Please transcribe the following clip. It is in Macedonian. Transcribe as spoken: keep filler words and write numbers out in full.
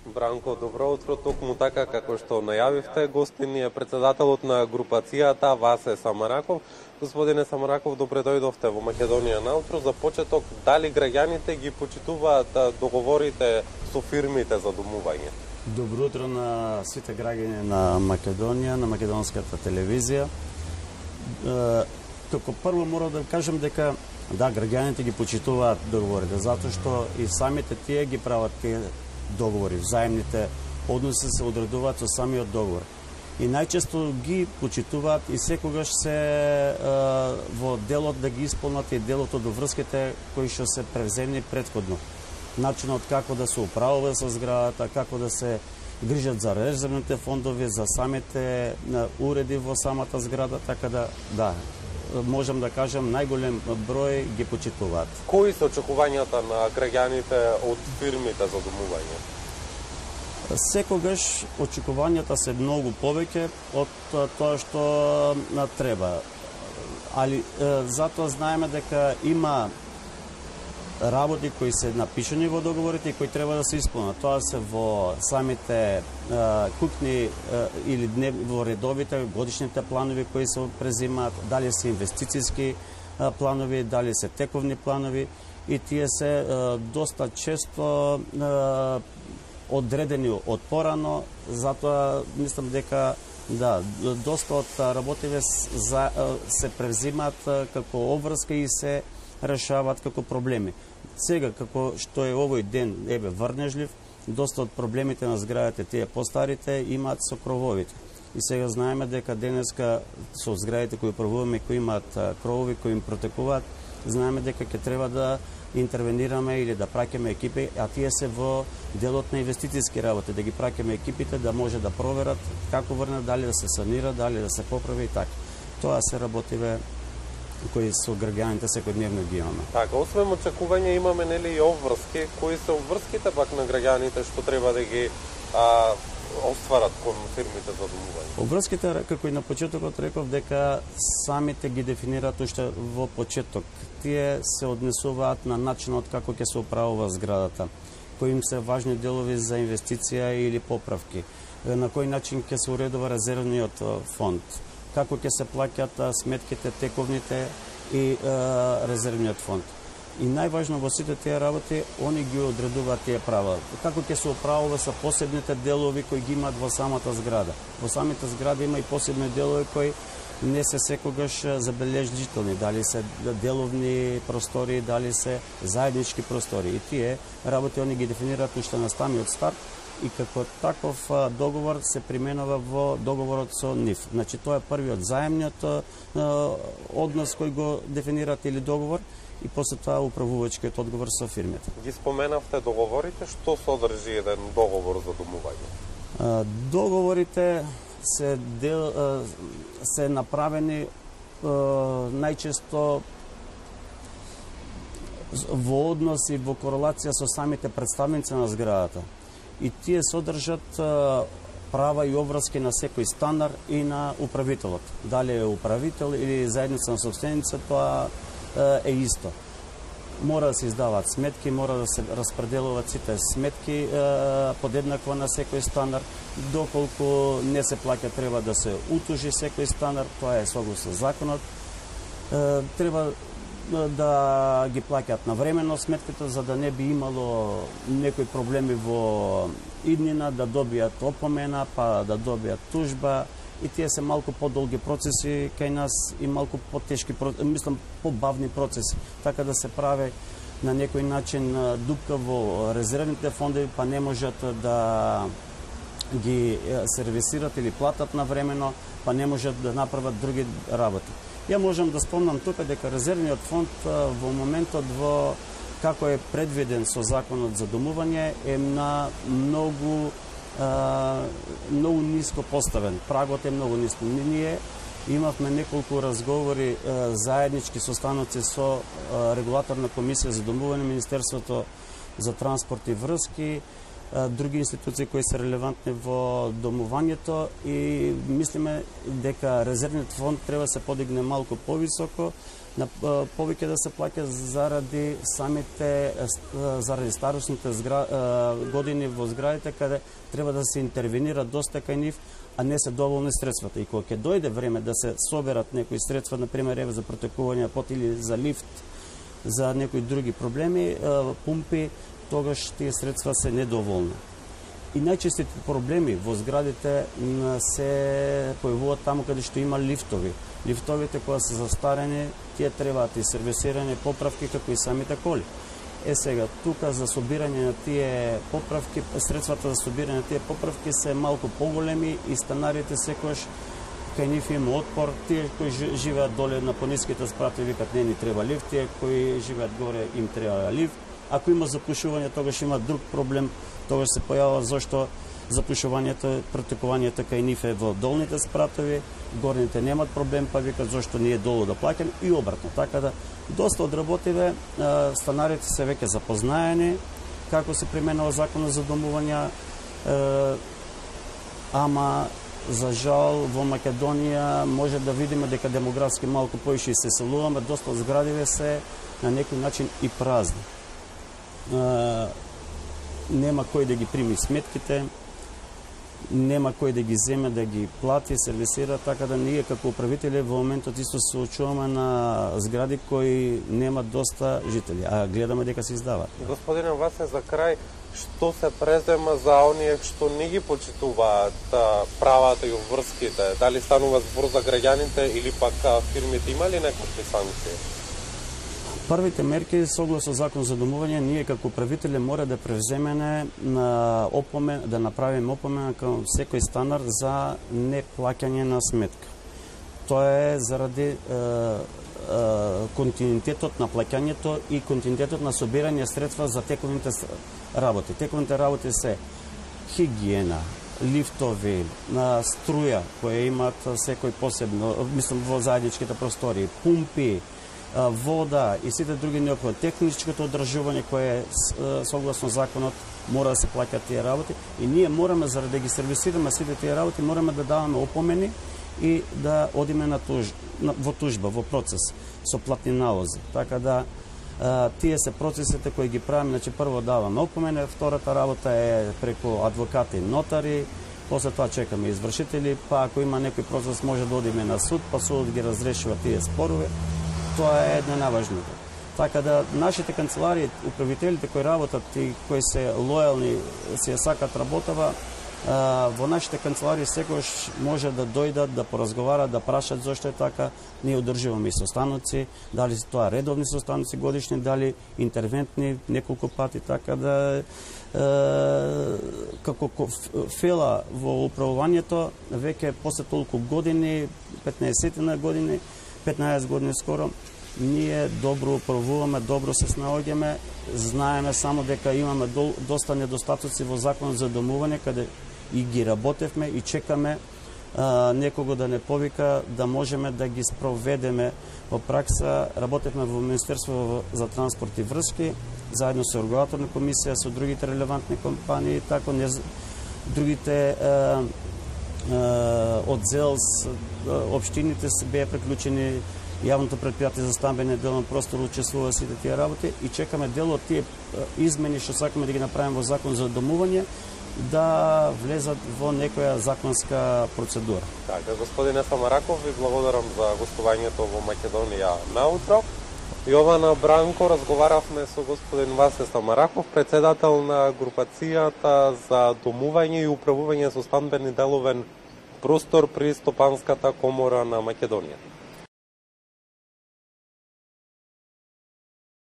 Бранко, добро утро. Токму така како што најавивте, гостин е председателот на групацијата Васе Самараков. Господине Самараков, добре дојдовте во Македонија наутро. За почеток, дали граѓаните ги почитуваат договорите со фирмите за домување? Добро утро на сите граѓани на Македонија, на македонската телевизија. Како прво мора да кажам дека да, граѓаните ги почитуваат договорите, затоа што и самите тие ги прават тие договори, взаимните односи се одредуваат со самиот договор. И најчесто ги почитуваат и секогаш се е, во делот да ги исполнат и делот од врските кои што се превземни претходно. Начинот како да се управува со зградата, како да се грижат за резервните фондови, за самите уреди во самата зграда, така да, да, можам да кажам, најголем број ги почитуваат. Кои се очекувањата на граѓаните од фирмите за домување? Секогаш очекувањата се многу повеќе од тоа што треба. Али затоа знаеме дека има работи кои се напишани во договорите и кои треба да се исполнат. Тоа се во самите е, кукни е, или днев, во редовите годишните планови кои се презимаат, дали се инвестициски е, планови, дали се тековни планови, и тие се е, доста често е, одредени од порано, затоа мислам дека да, доста од работите за, се превзимаат како обврска и се решаваат како проблеми. Сега, како што е овој ден, еве, врнежлив, доста од проблемите на зградите, тие постарите, имаат со крововите. И сега знаеме дека денеска со зградите кои управуваме, кои имаат кровови, кои им протекуваат, знаеме дека ќе треба да интервенираме или да праќаме екипи, а тие се во делот на инвестициски работи, да ги праќаме екипите да може да проверат како врнат, дали да се санира, дали да се поправи и така. Тоа се работиве кои со граѓаните секојдневно ги имаме. Така, освен очекување имаме нели и обврски, кои се обврските пак на граѓаните што треба да ги а, остварат кон фирмите за домување? Обврските, како и на почетокот реков, дека самите ги дефинираат уште во почеток. Тие се однесуваат на начинот како ќе се управува зградата, кои им се важни делови за инвестиција или поправки, на кој начин ќе се уредува резервниот фонд, како ќе се плаќат сметките, тековните и е, резервниот фонд. И најважно во сите тие работи, они ги одредуваат тие права. Како ќе се управува со посебните делови кои ги имаат во самата зграда. Во самите згради има и посебни делови кои не се секогаш забележителни, дали се деловни простори, дали се заеднички простори. И тие работи они ги дефинираат уште на самиот старт, и како таков договор се применува во договорот со НИФ. Значи, тоа е првиот заемниот однос кој го дефинираат или договор, и после тоа управувачкиот одговор со фирмите. Ги споменавте договорите, што содржи еден договор за домување? Договорите се дел, се направени најчесто во однос и во корелација со самите представници на зградата. И тие содржат права и обврски на секој станар и на управителот. Дали е управител или заедница на собственица, тоа е исто. Мора да се издаваат сметки, мора да се распределуваат сите сметки подеднакво на секој станар. Доколку не се плаќа, треба да се утужи секој станар, тоа е согласно законот. Треба да ги плаќаат навремено сметките, за да не би имало некои проблеми во иднина, да добијат опомена, па да добијат тужба. И тие се малку подолги процеси кај нас и малку потешки, мислам, побавни процеси. Така да се прави на некој начин дупка во резервните фондови, па не можат да ги сервисират или платат навремено, па не можат да направат други работи. Ја можам да спомнам тука дека резервниот фонд во моментот во како е предвиден со законот за домување е на многу а, многу ниско поставен. Прагот е многу ниско. Ние имавме неколку разговори а, заеднички состаноци со а, регулаторна комисија за домување, Министерството за транспорт и врски, други институции кои се релевантни во домувањето, и мислиме дека резервниот фонд треба да се подигне малку повисоко, на повеќе да се плаќа заради самите заради старосните згра, години во зградите каде треба да се интервенира доста кај нив, а не се доволни средствата. И кога ќе дојде време да се соберат некои средства, на пример еве за протекување пот или за лифт, за некои други проблеми, пумпи, тогаш тие средства се недоволни. И најчестите проблеми во зградите се појавуваат таму каде што има лифтови. Лифтовите кои се застарени, тие требаат и сервисирање, поправки, како и самите коли. Е сега, тука за собирање на тие поправки, средствата за собирање на тие поправки се малку поголеми и станарите секојаш кај нив има отпор. Тие кои живеат доле на пониските спрати викат не ни треба лифт, тие кои живеат горе им треба лифт. Ако има запушување, тогаш има друг проблем, тогаш се појавува зашто запушувањето, протекувањето кај нив е во долните спратови, горните немат проблем, па викат зашто ние долу да плаќаме и обратно. Така да доста одработиве, станарите се веќе запознаени како се применува законот за домување, ама за жал во Македонија може да видиме дека демографски малку поише се селуваме, доста зградиве се на некој начин и празни. Нема кој да ги прими сметките, нема кој да ги земе, да ги плати, сервисира, така да ние како управители во моментот исто се очуваме на згради кои немат доста жители, а гледаме дека се издаваат. Господине Васе, за крај, што се презема за оние што не ги почитуваат правата и обврските? Дали станува збор за граѓаните или пак фирмите, има ли некакви санкции? Првите мерки, согласно закон за домување, ние како управители мора да превземеме на опомен, да направиме опомена кон секој станар за неплаќање на сметка. Тоа е заради е, е, континуитетот на плаќањето и континуитетот на собирање средства за тековите работи. Тековите работи се хигиена, лифтови, на струја која имаат секој посебно, мислам во заедничките простори, пумпи, вода и сите други неопходни, техничкото одржување кое е согласно законот мора да се плаќаат тие работи и ние мораме заради да ги сервисираме сите тие работи мораме да даваме опомени и да одиме на туж, на, во тужба, во процес со платни налози. Така да а, тие се процесите кои ги правиме, значи прво даваме опомени, втората работа е преку адвокати и нотари, после тоа чекаме извршители, па ако има некој процес може да одиме на суд, па судот ги разрешува тие спорове. Тоа е една најважното. Така да нашите канцеларии, управителите кои работат и кои се лојални, си ја сакат работава, во нашите канцеларии секојаш може да дојдат, да поразговарат, да прашат зошто е така. Ние одржуваме и состаноци, дали се тоа редовни состаноци годишни, дали интервентни неколку пати, така да е, како фела во управувањето веќе после толку години, петнаесет на години, петнаесет години скоро, ние добро управуваме, добро се снаоѓаме, знаеме само дека имаме до, доста недостатоци во законот за домување, каде и ги работевме и чекаме а, некого да не повика да можеме да ги спроведеме во пракса. Работевме во Министерство за транспорт и врски, заедно со регулаторна комисија, со другите релевантни компании, тако не, другите а, од ЗЕЛС, општините се беа приклучени, јавното предпријатие за стамбен делен простор учествува сите тие работи и чекаме дел од тие измени што сакаме да ги направиме во закон за домување да влезат во некоја законска процедура. Така, господине Самараков, ви благодарам за гостувањето во Македонија наутро. Јована Бранко, разговаравме со господин Васе Самараков, председател на групацијата за домување и управување со стамбен и деловен простор при Стопанската комора на Македонија.